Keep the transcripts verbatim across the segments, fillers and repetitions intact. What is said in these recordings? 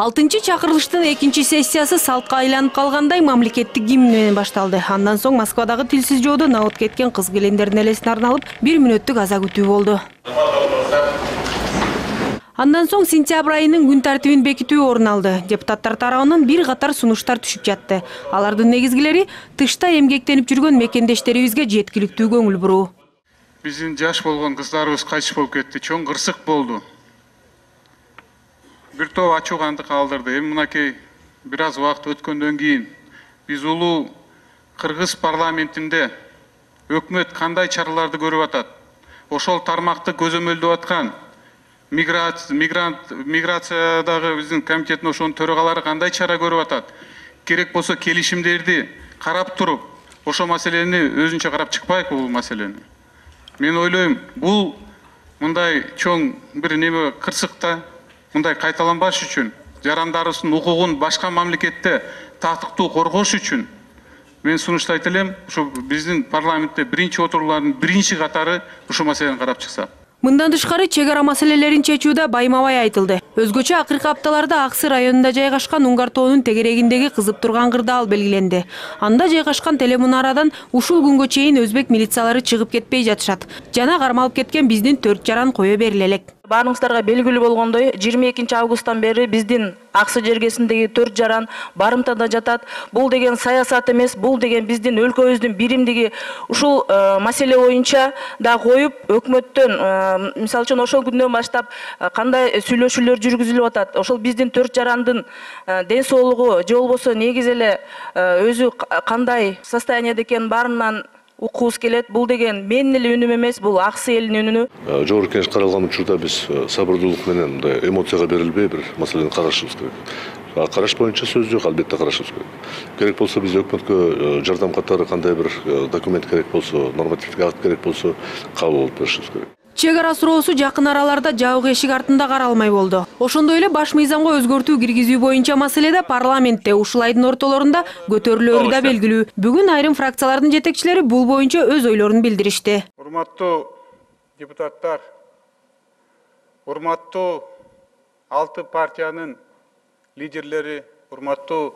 алтынчы чакырылыштын экинчи сессиясы салтка айланып калгандай мамлекеттик гимн менен башталды. Андан соң Москвадагы тилсиз жоодо набыт кеткен кыз-келиндердин элесине арналып бир мүнөттүк аза күтүү болду. Андан соң сентябрь айынын күн тартибин бекитүү орун алды. Депутаттар тарабынан бир катар сунуштар түшүп жатты. Алардын негизгилери тышта эмгектенип жүргөн мекендештерибизге жеткиликтүү көңүл буруу. Биздин жаш болгон кыздарыбыз кайтыш болуп кетти. Чоң кырсык болду. Бир топ ачуугандык калтырды. Эми мынакей бир аз убакыт өткөндөн кийин биз улуу Кыргыз парламентинде өкмөт кандай чараларды көрүп атат? Ошол тармакты көзөмөлдөп аткан мигрант миграциядагы биздин комитеттин ошонун төрагалары кандай чара көрүп атат? Керек болсо келишимдерди карап туруп, ошол маселени өзүнчө карап чыкпайбы бул маселени? Мен ойлойм, бул мындай чоң бир неме кырсыкта мындай кайталанбаш үчүн, жарандарыбыздын укугун башка мамлекетте тактыктуу коргош үчүн мен сунуштайт элем, ушу биздин парламентте биринчи отуруулардын биринчи катары ушул маселени карап чыкса. Мындан тышкары чек ара маселелерин чечүүдө байма-бай айтылды. Өзгөчө акыркы апталарда Аксы районунда жайгашкан Уңгар тоонун тегерегиндеги кызып турган кырдаал белгиленди. Анда жайгашкан телемунарадан ушул күнгө чейин өзбек милициялары чыгып кетпей жатышат. Жана кармалып кеткен биздин төрт жаран кое бериле элек. Баарыңыздарга белгилүү болгондой, жыйырма экинчи августтан бери биздин Аксы жергесиндеги төрт жаран барымтада жатат. Бул деген саясат эмес, бул деген биздин өлкөбүздүн биримдиги. Ушул маселе боюнча да коюп, өкмөттөн, мисалы үчүн ошол күндөн баштап кандай сүйлөшүүлөр жүргүзүлүп атат. Ошол биздин төрт жарандын ден соолугу же болбосо негизи эле өзү кандай состояниеде экенин баарынан укуубуз келет. Бул деген менин эле үнүм эмес, бул Аксы элинин үнү. Жогорку Кеңеш каралган учурда биз сабырдуулук менен мындай эмоцияга берилбей бир маселени карашыбыз керек. Караш боюнча сөз жок, албетте карашыбыз керек. Керек болсо биз өкмөткө жардам катары кандай бир документ керек болсо, нормативдик акт керек болсо кабыл болуп беришибиз керек. Чек ара суроосу жакын араларда жабык эшик артында каралмай болду. Ошондой эле баш мыйзамга өзгөртүү киргизүү боюнча маселеде парламентте ушул айдын ортолорунда көтөрүлөрү да белгилүү. Бүгүн айрым фракциялардын жетекчилери бул боюнча өз ойлорун билдиришти. Урматтуу депутаттар, урматтуу алты партиянын лидерлери, урматтуу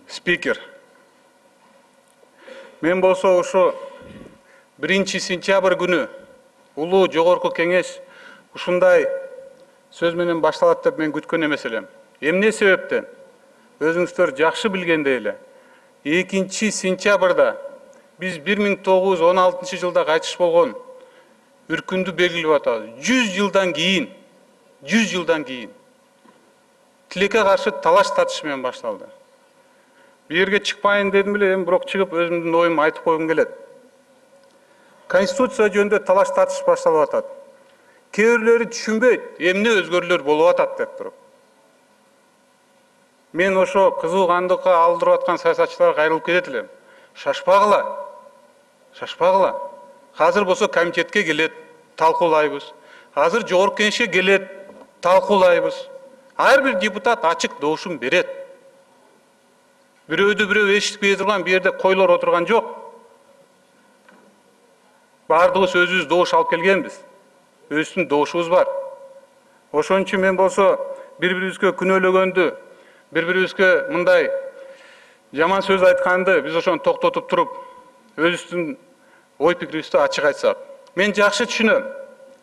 спикер. Мен болсо ошо биринчи сентябрь күнү улуу жогорку кеңеш ушундай сөз менен башталат деп мен күткөн эмес элем. Эмне себептен? Өзүңүздөр жакшы билгендей эле, экинчи сентябрда биз бир миң тогуз жүз он алтынчы жылда кайтыш болгон үркүндү белгилеп атабыз. жүз жылдан кийин, жүз жылдан кийин тилекке каршы талаш тартыш менен башталды. Бу жерге чыкпайын дедим эле, эми бирок чыгып өзүмдүн оюмду айтып койгум келет. Конституция жөнүндө талаш тартыш башталып атат. Кээ бирлери түшүнбөйт, эмне өзгөрүүлөр болуп атат деп туруп. Мен ошо кызуу кандыкка алдырып аткан саясатчыларга кайрылып кетет элем. Шашпагыла. Шашпагыла. Азыр болсо комитетке келет, талкуулайбыз. Азыр жогорку кеңешке келет, талкуулайбыз. Ар бир депутат ачык добушун берет. Бирөөдү бирөө эшитпей турган бу жерде койлор отурган жок. Бардыгыбыз өзүбүз добуш алып келгенбиз. Өзүбүздүн добушубуз бар. Ошон үчүн мен болсо бири-бирибизге күнөөлөгөндү, бири-бирибизге мындай жаман сөз айтканды биз ошону токтотуп туруп, өзүбүздүн ой пикирибизди ачык айтсак. Мен жакшы түшүнөм.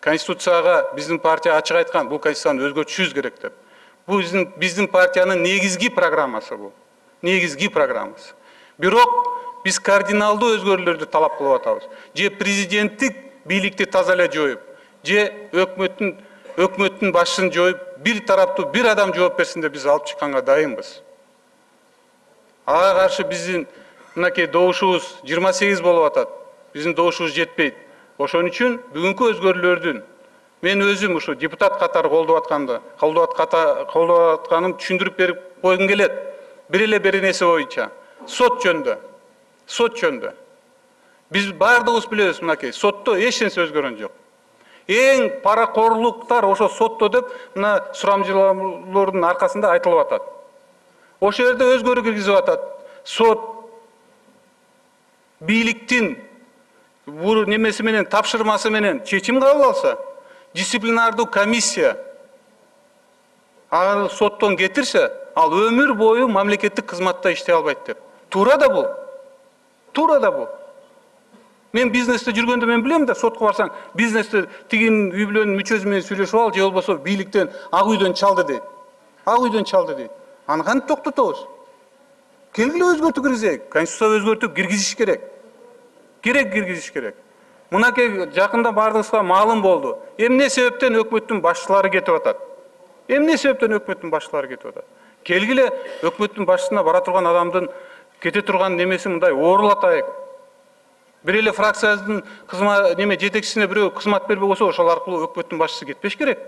Конституцияга биздин партия ачык айткан, бул конституцияны өзгөртүшүбүз керек деп. Бул биздин биздин партиянын негизги программасы бул. Негизги программасы. Бирок биз кардиналдуу өзгөрүүлөрдү талап кылып атабыз. Же президенттик бийликти таза эле жоюп, же өкмөттүн өкмөттүн башын жоюп, бир тараптуу бир адам жооп берсин деп биз алып чыкканга дайынбыз. Ага каршы биздин мынакей добушубуз жыйырма сегиз болуп атат. Биздин добушубуз жетпейт. Ошон үчүн бүгүнкү өзгөрүүлөрдүн мен өзүм ушу депутат катары колдоп атканды, колдоп атканым түшүндүрүп берип койгум келет. Бир эле бир нерсе боюнча сот жөнүндө. Сот жөнүндө. Биз бардыгыбыз билебиз, мынакей сотто эч нерсе өзгөргөн жок. Эң паракорлуктар ошо сотто деп мына сурамжылоолордун аркасында айтылып атат. Ошол жерде өзгөрүү киргизип атат. Сот бийликтин бул немеси менен тапшырмасы менен чечим кабыл алса, дисциплинардуу комиссия Ага соттон кетирсе, ал өмүр бою мамлекеттик кызматта иштей албайт деп. Туура да бул. Туура да бул. Мен бизнесте жүргөндө мен билем да, сотко барсаң, бизнесте тигин үй бүлөнүн мүчөсү менен сүйлөшүп ал, же болбосо бийликтен ак үйдөн чалды дейт. Ак үйдөн чалды дейт. Аны кантип токтотобуз? Келгиле өзгөртүп киргизейик. Конституцияга өзгөртүп киргизиш керек. Керек киргизиш керек. Мынакей жакында бардыгыбызга маалым болду. Эмне себептен өкмөттүн башчылары кетип атат? Эмне себептен өкмөттүн башчылары кетип атат? Келгиле өкмөттүн башчысына бара турган адамдын кете турган немесин мындай оорулатайык. Бир эле фракциябыздын кызмат неме жетекчисине бирөө кызмат бербей койсо, ошол аркылуу өкмөттүн башчысы кетпеш керек.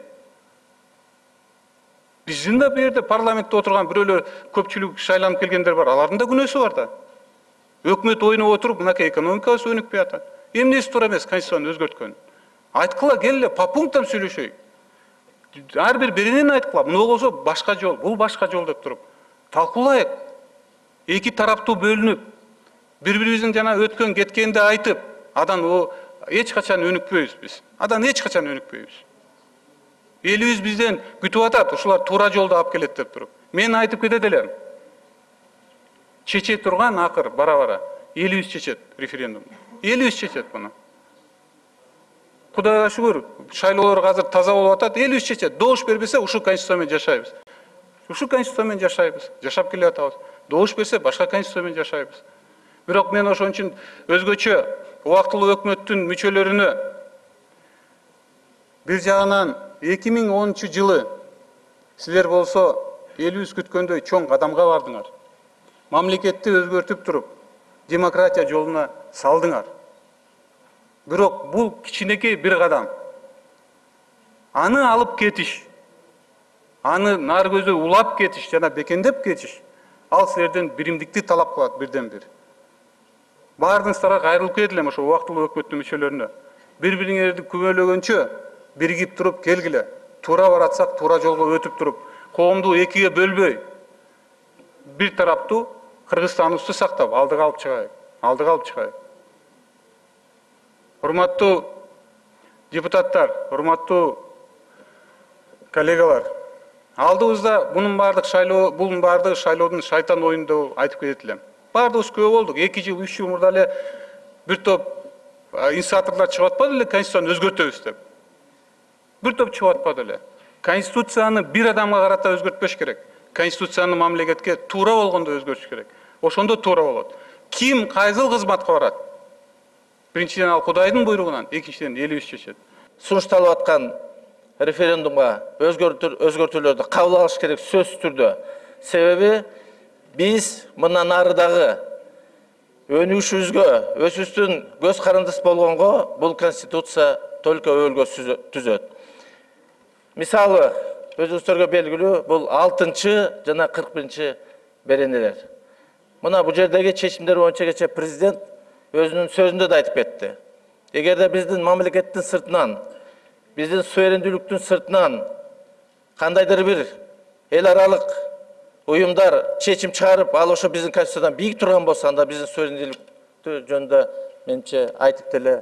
Биздин да бу жерде парламентте отурган бирөөлөр көпчүлүк шайланып келгендер бар. Алардын да күнөөсү бар да. Өкмөт ойноп отуруп, мынакей экономикабыз өнүкпөй атат. Эмнеси туура эмес конституцияны өзгөрткөн? Айткыла, келе по пунктам сүйлөшөйүк. Ар бир беренени айткыла. Муну болсо башка жол, бул башка жол деп туруп талкуулайык. Эки тараптуу бөлүнүп, бири-бирибиздин жана өткөн кеткенди айтып, адан о эч качан өнүкпөйбүз биз. Адан эч качан өнүкпөйбүз. Элибиз бизден күтүп атат, ушулар туура жолду алып келет деп туруп. Мен айтып кетет элем. Чече турган акыр бара-бара элибиз чечет референдумду. Элибиз чечет буну. Кудайга шүгүр, шайлоолор азыр таза болуп атат, элибиз чечет. Добуш бербесе, ушул конституция менен жашайбыз. Ушул конституция менен жашайбыз. Жашап келе атабыз. Добуш берсе, башка конституция менен жашайбыз. Бирок мен ошон үчүн өзгөчө убактылуу өкмөттүн мүчөлөрүнө бир жагынан эки миң онунчу жылы силер болсо элибиз күткөндөй чоң кадамга бардыңар. Мамлекетти өзгөртүп туруп, демократия жолуна салдыңар. Бирок бул кичинекей бир кадам. Аны алып кетиш, аны нар көзү улап кетиш жана бекендеп кетиш, ал силерден биримдикти талап кылат бирден бир. Бардыңыздарга кайрылып кетилем ошо убактылуу өкмөттүн мүчөлөрүнө. Бири-бириңерди күбөлөгөнчө биригип туруп келгиле. Туура баратсак, туура жолго өтүп туруп, коомду экиге бөлбөй, бир тараптуу Кыргызстаныбызды сактап, алдыга алып чыгайык. Алдыга алып чыгайык. Урматтуу депутаттар, урматтуу коллегалар, алдыбызда бунун бардык шайлоо, бунун бардыгы шайлоодун шайтан оюну деп айтып кетет элем. Бардыгыбыз күбө болдук. эки жыл, үч жыл мурда эле бир топ инициаторлор чыгып атпады эле конституцияны өзгөртөбүз деп. Бир топ чыгып атпады эле. Конституцияны бир адамга карата өзгөртпөш керек. Конституцияны мамлекетке туура болгондо өзгөртүш керек. Ошондо туура болот. Ким кайсыл кызматка барат? Биринчиден ал Кудайдын буйругунан, экинчиден элибиз чечет. Сунушталып аткан референдумга өзгөртүүлөрдү кабыл алыш керек сөзсүз түрдө. Себеби биз мындан арыдагы өнүгүшүбүзгө, өзүбүздүн көз карандыс болгонго бул конституция только өөлгө түзөт. Мисалы, өзүңүздөргө белгилүү, бул алтынчы жана кырк биринчи беренелер. Мына бул жердеги чечимдер боюнча кечээ президент өзүнүн сөзүндө да айтып кетти. Эгерде биздин мамлекеттин сыртынан, биздин суверендүүлүктүн сыртынан кандайдыр бир эл аралык уюмдар чечим чыгарып, ал ошо биздин конституциядан бийик турган болсо, анда биздин суверендүүлүктү жөнүндө менимче айтып деле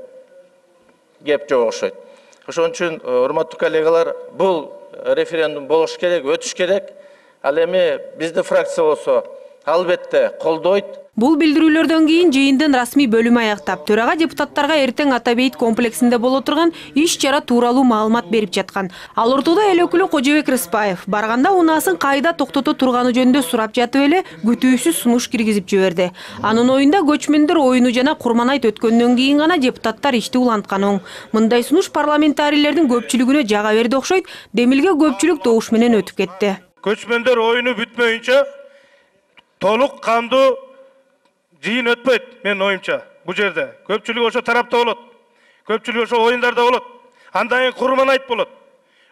кеп жок окшойт. Ошон үчүн, урматтуу коллегалар, бул референдум болуш керек, өтүш керек. Ал эми биздин фракция болсо албетте колдойт. Бул билдирүүлөрдөн кийин жыйындын расмий бөлүмү аяктап, төрага депутаттарга эртең Ата бейит комплексинде боло турган иш-чара тууралуу маалымат берип жаткан. Ал ортодо эл өкүлү Кожобек Рыспаев барганда унаасын кайда токтото турганы жөнүндө сурап жатып эле күтүүсүз сунуш киргизип жиберди. Анын оюнда көчмөндөр оюну жана Курманайт өткөндөн кийин гана депутаттар ишти уланткан оң. Мындай сунуш парламентарийлердин көпчүлүгүнө жага берди окшойт, демилге көпчүлүк добуш менен өтүп кетти. Көчмөндөр оюну бүтмөйүнчө толук кандуу жыйын өтпөйт, мен оюмча. Бу жерде көпчүлүк ошо тарапта болот. Көпчүлүк ошо оюндарда болот. Андан кийин Курманайт болот.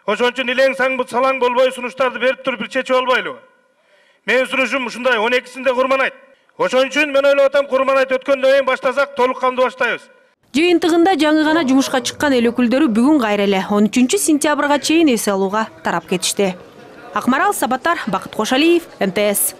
Ошон үчүн илең саң салаң болбой сунуштарды берип туруп бир чечип албайлыбы? Менин сунушум ушундай, он экисинде Курманайт. Ошон үчүн мен ойлоп атам, Курманайт өткөндөн кийин баштасак толук кандуу баштайбыз. Жыйынтыгында жаңы гана жумушка чыккан эл өкүлдөрү бүгүн кайра эле он үчүнчү сентябрга чейин эс алууга тарап кетишти. Акмарал Сабаттар, Бакыт Кошалиев, М Т С.